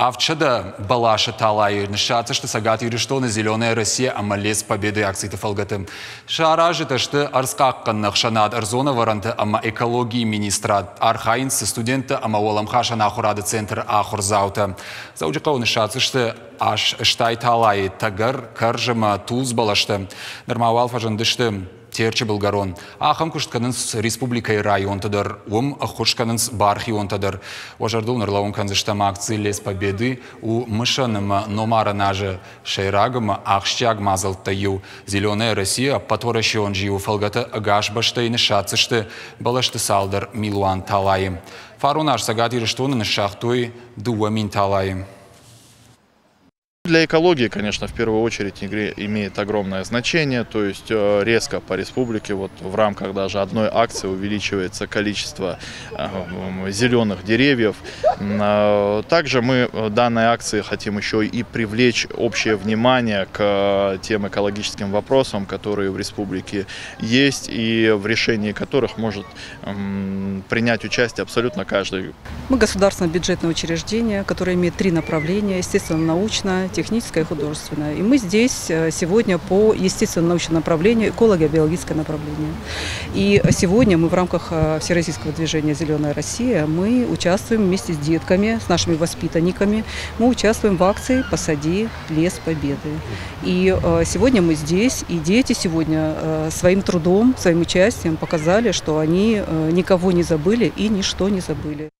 700 бӕласы талайы ныссадздзысты Цӕгат Ирыстоны «Зеленая Россия» ӕмӕ «Лес Победы» акциты фӕлгӕты. Сӕ аразджытӕ сты ӕрдзхъахъхъӕнӕн ӕхсӕнад ӕрдзон ӕвӕрӕнты ӕмӕ экологийы министрад. Архайынц цы студенттӕ ӕмӕ уӕлӕмхасӕн ахуырады центры ахуырдзаутӕ. Дзӕуджыхъӕуы ныссадздзысты 80 талайы тӕгӕр, кӕрз ӕмӕ тулдз бӕлӕстӕ. Нырма уал фӕзындысты Терчы былгӕрон. Ахӕм куыст кӕнынц республикӕйы районты дӕр, уым ӕххуыс кӕнынц бархионтӕ дӕр. Уӕ зӕрдыл ныр кӕндзыстӕм акци «Лес Победы» у мысӕн ӕмӕ номарӕн азы сӕйраг ӕмӕ ахсджиаг мадзӕлттӕй иу. «Зеленая Россия» ӕппӕтуӕрӕсеон зиуы фӕлгӕты ӕгас бӕстӕйы ныссадздзысты бӕлӕсты цалдӕр милуан талайы. Фарон аз Цӕгат Ирыстоны ныссагътой 2000 талайы. Для экологии, конечно, в первую очередь имеет огромное значение, то есть резко по республике, вот в рамках даже одной акции увеличивается количество зеленых деревьев. Также мы данной акции хотим еще и привлечь общее внимание к тем экологическим вопросам, которые в республике есть и в решении которых может принять участие абсолютно каждый. Мы государственное бюджетное учреждение, которое имеет три направления: естественно-научное, техническое и художественное. И мы здесь сегодня по естественно-научному направлению, эколого-биологическое направление. И сегодня мы в рамках Всероссийского движения «Зеленая Россия» мы участвуем вместе с детками, с нашими воспитанниками, мы участвуем в акции «Посади лес Победы». И сегодня мы здесь, и дети сегодня своим трудом, своим участием показали, что они никого не забыли и ничто не забыли.